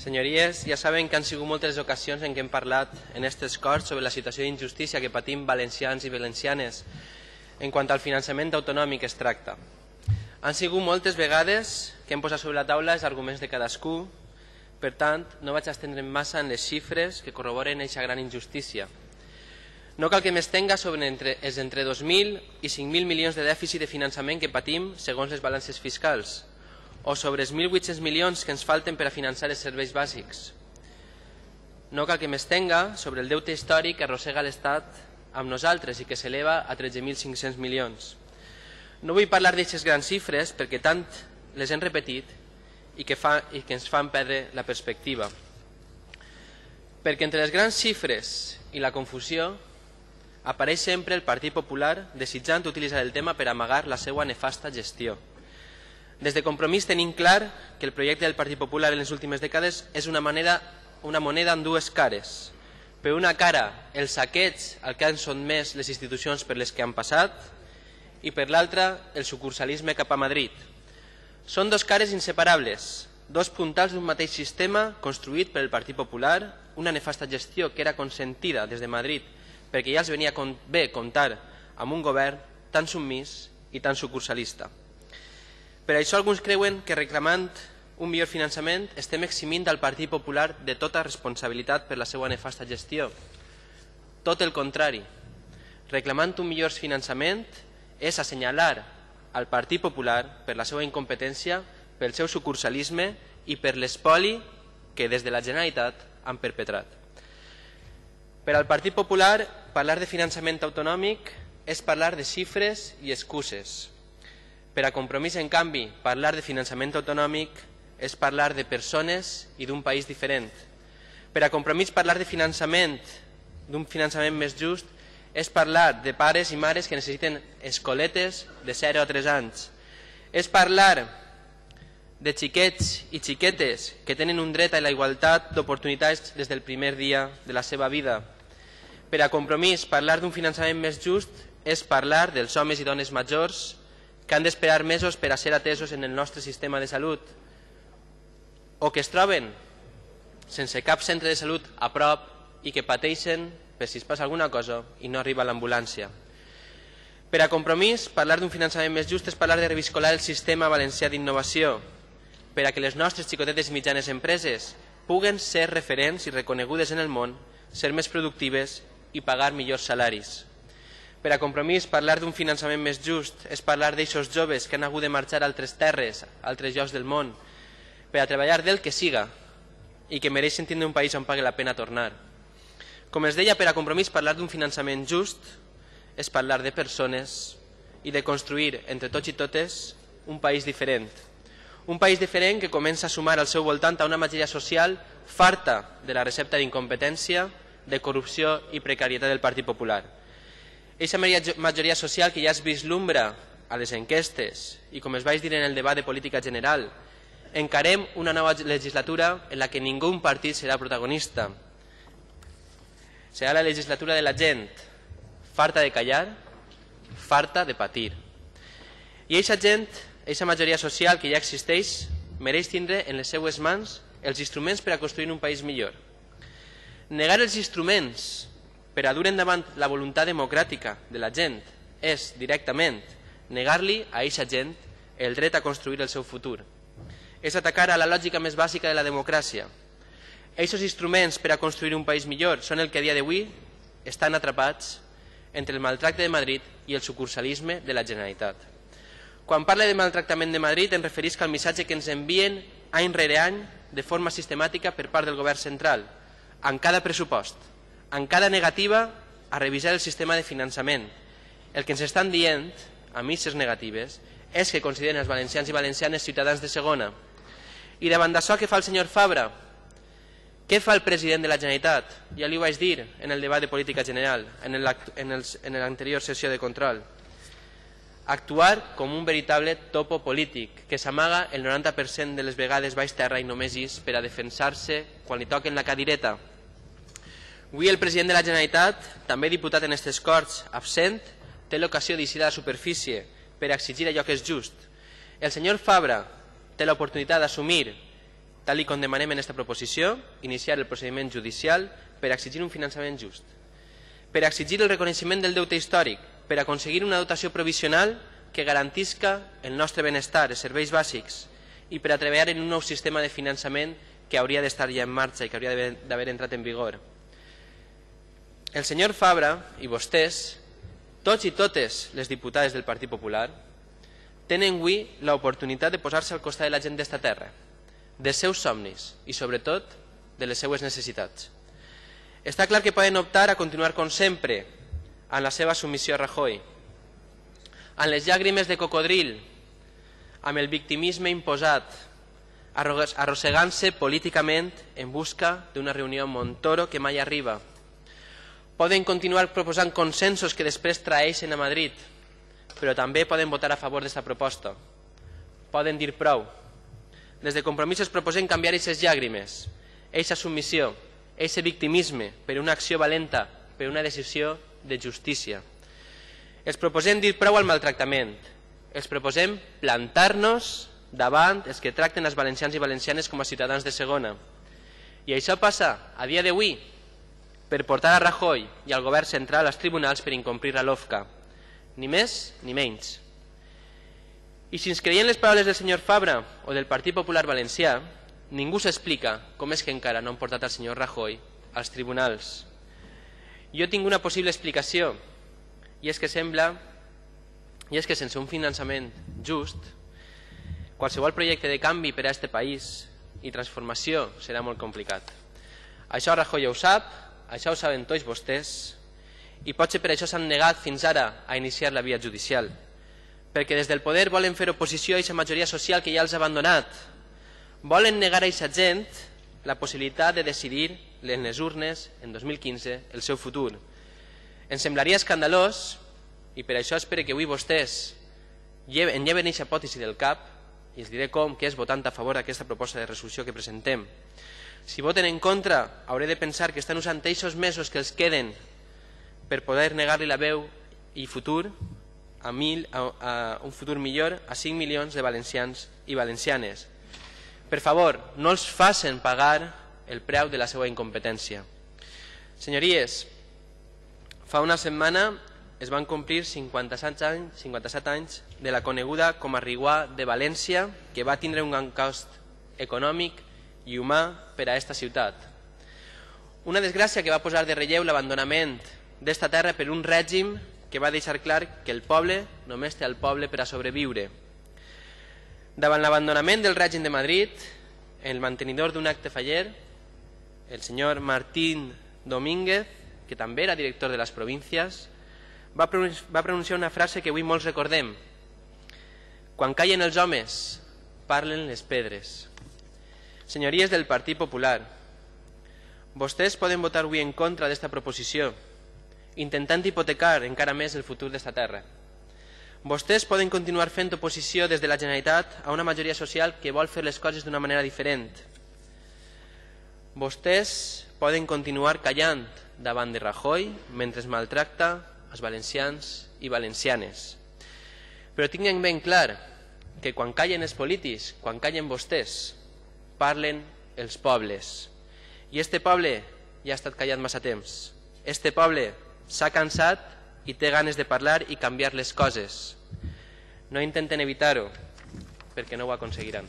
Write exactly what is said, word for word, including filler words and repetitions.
Senyories, ja saben que han sigut moltes ocasions en què hem parlat en aquestes Corts sobre la situació d'injustícia que patim valencians i valencianes en quant al finançament autonòmic es tracta. Han sigut moltes vegades que hem posat sobre la taula els arguments de cadascú, per tant, no vaig estendre'm massa en les xifres que corroboren aquesta gran injustícia. No cal que m'estenga sobre entre, els entre dos mil i cinc mil milions de dèficit de finançament que patim segons les balances fiscals, o sobre els mil vuit-cents milions que ens falten per a finançar els serveis bàsics. No cal que m'estenga sobre el deute històric que arrossega l'Estat amb nosaltres i que s'eleva a tretze mil cinc-cents milions. No vull parlar d'aquestes grans xifres perquè tant les hem repetit i que, fa, i que ens fan perdre la perspectiva. Perquè entre les grans xifres i la confusió apareix sempre el Partit Popular desitjant utilitzar el tema per amagar la seva nefasta gestió. Des de Compromís tenim clar que el projecte del Partit Popular en les últimes dècades és una, manera, una moneda amb dues cares. Per una cara, el saqueig al que han sotmès les institucions per les que han passat i per l'altra, el sucursalisme cap a Madrid. Són dos cares inseparables, dos puntals d'un mateix sistema construït per el Partit Popular, una nefasta gestió que era consentida des de Madrid perquè ja els venia bé comptar amb un govern tan submís i tan sucursalista. Per això alguns creuen que reclamant un millor finançament estem eximint al Partit Popular de tota responsabilitat per la seva nefasta gestió. Tot el contrari. Reclamant un millor finançament és assenyalar al Partit Popular per la seva incompetència, pel seu sucursalisme i per l'espoli que des de la Generalitat han perpetrat. Per al Partit Popular, parlar de finançament autonòmic és parlar de xifres i excuses. Per a Compromís, en canvi, parlar de finançament autonòmic és parlar de persones i d'un país diferent. Per a Compromís, parlar de finançament, d'un finançament més just, és parlar de pares i mares que necessiten escoletes de zero a tres anys. És parlar de xiquets i xiquetes que tenen un dret a la igualtat d'oportunitats des del primer dia de la seva vida. Per a Compromís, parlar d'un finançament més just és parlar dels homes i dones majors que han d'esperar mesos per a ser atesos en el nostre sistema de salut o que es troben sense cap centre de salut a prop i que pateixen per si es passa alguna cosa i no arriba l'ambulància. Per a Compromís, parlar d'un finançament més just és parlar de reviscolar el sistema valencià d'innovació per a que les nostres xicotetes i mitjanes empreses puguen ser referents i reconegudes en el món, ser més productives i pagar millors salaris. Per a Compromís, parlar d'un finançament més just és parlar d'eixos joves que han hagut de marxar a altres terres, a altres llocs del món, per a treballar del que siga i que mereixen tindre un país on pagui la pena tornar. Com es deia, per a Compromís, parlar d'un finançament just és parlar de persones i de construir entre tots i totes un país diferent. Un país diferent que comença a sumar al seu voltant a una majoria social farta de la recepta d'incompetència, de corrupció i precarietat del Partit Popular. Eixa majoria social que ja es vislumbra a les enquestes i, com es vaig dir en el debat de política general, encarem una nova legislatura en la que ningú partit serà protagonista. Serà la legislatura de la gent, farta de callar, farta de patir. I eixa gent, eixa majoria social que ja existeix, mereix tindre en les seues mans els instruments per a construir un país millor. Negar els instruments per a dur endavant la voluntat democràtica de la gent és, directament, negar-li a eixa gent el dret a construir el seu futur. És atacar a la lògica més bàsica de la democràcia. Eixos instruments per a construir un país millor són el que a dia d'avui estan atrapats entre el maltracte de Madrid i el sucursalisme de la Generalitat. Quan parla de maltractament de Madrid em referisc al missatge que ens envien any rere any de forma sistemàtica per part del govern central, en cada pressupost, en cada negativa a revisar el sistema de finançament. El que ens estan dient, a misses negatives, és que consideren els valencians i valencianes ciutadans de segona. I davant d'això, què fa el senyor Fabra? Què fa el president de la Generalitat? Ja li ho vaig dir en el debat de política general, en l'anterior sessió de control. Actuar com un veritable topo polític, que s'amaga el noranta per cent de les vegades baix terra i només és per a defensar-se quan li toquen la cadireta. Avui el president de la Generalitat, també diputat en aquestes Corts, absent, té l'ocasió d'eixir a la superfície per a exigir allò que és just. El senyor Fabra té l'oportunitat d'assumir tal i com demanem en aquesta proposició, iniciar el procediment judicial per exigir un finançament just, per exigir el reconeixement del deute històric, per aconseguir una dotació provisional que garantisca el nostre benestar, els serveis bàsics, i per a treballar en un nou sistema de finançament que hauria d'estar ja en marxa i que hauria d'haver entrat en vigor. El senyor Fabra i vostès, tots i totes les diputades del Partit Popular, tenen avui l'oportunitat de posar-se al costat de la gent d'esta terra, dels seus somnis i, sobretot, de les seues necessitats. Està clar que poden optar a continuar com sempre en la seva submissió a Rajoy, amb les llàgrimes de cocodril, amb el victimisme imposat, arrossegant-se políticament en busca d'una reunió amb Montoro que mai arriba. Poden continuar proposant consensos que després traeixen a Madrid, però també poden votar a favor d'esta proposta. Poden dir prou. Des de Compromisos proposem canviar aquestes llàgrimes, aquesta submissió, aquest victimisme per una acció valenta, per una decisió de justícia. Els proposem dir prou al maltractament. Els proposem plantar-nos davant els que tracten els valencians i valencianes com a ciutadans de segona. I això passa, a dia d'avui, per portar a Rajoy i al govern central als tribunals per incomplir la LOFCA. Ni més ni menys. I si ens creiem les paraules del senyor Fabra o del Partit Popular Valencià, ningú s'explica com és que encara no han portat al senyor Rajoy als tribunals. Jo tinc una possible explicació, i és que sembla i és que sense un finançament just, qualsevol projecte de canvi per a aquest país i transformació serà molt complicat. Això Rajoy ho sap, això ho saben tots vostès, i potser per això s'han negat fins ara a iniciar la via judicial, perquè des del poder volen fer oposició a aquesta majoria social que ja els ha abandonat. Volen negar a aquesta gent la possibilitat de decidir en les urnes en dos mil quinze el seu futur. Ens semblaria escandalós, i per això espero que avui vostès en lleven aquesta hipòtesi del cap, i els diré com, que és votant a favor d'aquesta proposta de resolució que presentem. Si voten en contra, hauré de pensar que estan usant aquests mesos que els queden per poder negar-li la veu i futur a, mil, a, a un futur millor a cinc milions de valencians i valencianes. Per favor, no els facin pagar el preu de la seva incompetència. Senyories, fa una setmana es van complir cinquanta-set anys, cinquanta-set anys de la coneguda com a Riguà de València, que va tindre un gran cost econòmic i humà per a aquesta ciutat. Una desgràcia que va posar de relleu l'abandonament d'esta terra per un règim que va deixar clar que el poble només té el poble per a sobreviure. Davant l'abandonament del règim de Madrid, el mantenidor d'un acte faller, el senyor Martín Domínguez, que també era director de les províncies, va pronunciar una frase que avui molts recordem: quan callen els homes, parlen les pedres. Senyories del Partit Popular, vostès poden votar avui en contra d'esta proposició, intentant hipotecar encara més el futur d'esta terra. Vostès poden continuar fent oposició des de la Generalitat a una majoria social que vol fer les coses d'una manera diferent. Vostès poden continuar callant davant de Rajoy mentre es maltracta els valencians i valencianes. Però tinguin ben clar que quan callen els polítics, quan callen vostès, parlen els pobles. I este poble ja ha estat callat massa temps. Este poble s'ha cansat i té ganes de parlar i canviar les coses. No intenten evitar-ho, perquè no ho aconseguiran.